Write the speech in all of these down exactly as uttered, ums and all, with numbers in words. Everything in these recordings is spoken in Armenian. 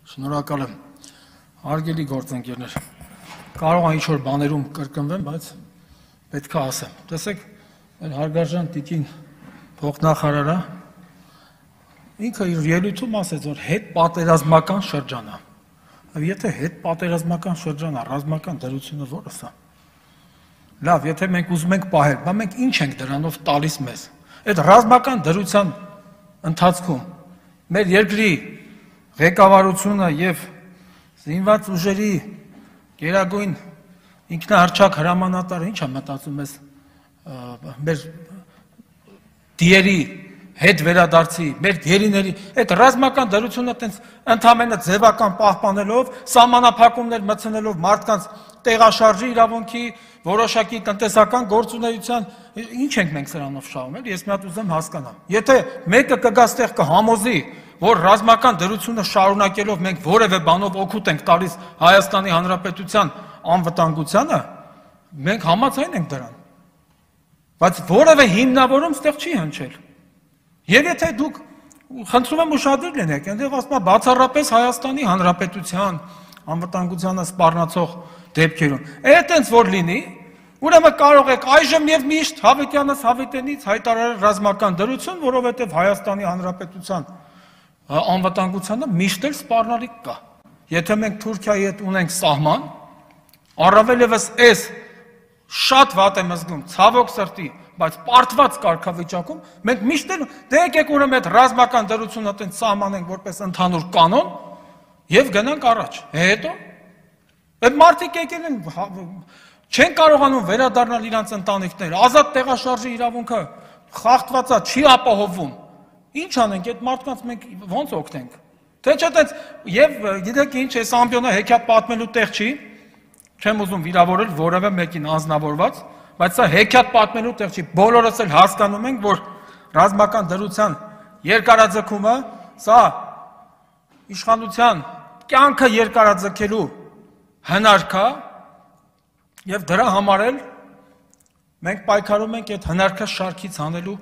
Շնորհակալ եմ, հարգելի գործընկերներ, կարող է ինչ-որ բաներում կրկնվեմ, բայց պետք է ասեմ, տեսեք, մեր հարգարժան տիկին փոխնախարարը, ինքը իր ելույթում ասեց, որ հետ պատերազմական շրջան է, եթե հետ պատերազմական շրջան է, ռազմական դրությունը որը սա, լավ, եթե մենք ուզում ենք պահել, բա մենք ինչ ենք դրանով տալիս մեզ, այդ ռազմական դրության ընթացքում, մեր երկրի ղեկավարությունը և զինված ուժերի գերագույն ինքնահռչակ հրամանատարը ինչ է մտածում ես մեր դիերի հետ վերադարձի, մեր գերիների, այդ ռազմական դրությունը ընդամենը ձևական պահպանելով, սահմանափակումներ մտցնելով մարդկանց տեղաշարժի իրավունքի, որոշակի տնտեսական գործունեության, ինչ ենք մենք սրանով շահում, ես մի հատ ուզեմ հասկանամ, եթե մեկը կգա ստեղ կհամոզի, որ ռազմական դրությունը շարունակելով մենք որևէ բանով օգուտ ենք տալիս Հայաստանի Հանրապետության անվտանգությանը, մենք համաձայն ենք դրան, բայց որևէ հիմնավորում ստեղ չի հնչել, և եթե դուք խնդրում եմ ուշադիր լինեք, այնտեղ ասում է բացառապես Հայաստանի Հանրապետության անվտանգությանը սպառնացող դեպքերում, այդտենց որ լինի, ուրեմն կարող եք այժմ և միշտ հավիտյանս հավիտենից հայտարարել ռազմական դրություն, որովհետև Հայաստանի Հանրապետության անվտանգությանը միշտ էլ սպառնալիք կա, եթե մենք Թուրքիայի հետ ունենք սահման, առավել ևս այս շատ վատ եմ զգում, ցավոք սրտի, բայց պարտված կարգավիճակում, մենք միշտ էլ դե եկեք ուրեմն այդ ռազմական դրությունը տենց սահմանենք որպես ընդհանուր կանոն և գնանք առաջ, հետո այդ մարդիկ եկել են չեն կարողանում վերադառնալ իրանց ընտանիքներ, ազատ տեղաշարժի իրավունքը խախտված է, չի ապահովում, ինչ անենք, այդ մարդկանց մենք ոնց օգնենք, թե չէ տենց, և գիտեք ինչ, այս ամբիոնը հեքիաթ պատմելու տեղ չի, չեմ ուզում վիրավորել որևէ մեկին անձնավորված, բայց սա հեքիաթ պատմելու տեղ չի, բոլորս էլ հասկանում ենք, որ ռազմական դրության երկարաձգումը, սա իշխանության կյանքը երկարաձգելու հնարք է, և դրա համար էլ մենք պայքարում ենք այդ հնարքը շարքից հանելու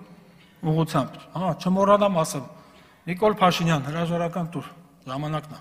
ուղղությամբ, հա, չմոռանամ ասեմ, Նիկոլ Փաշինյան, հրաժարական տուր, ժամանակն է։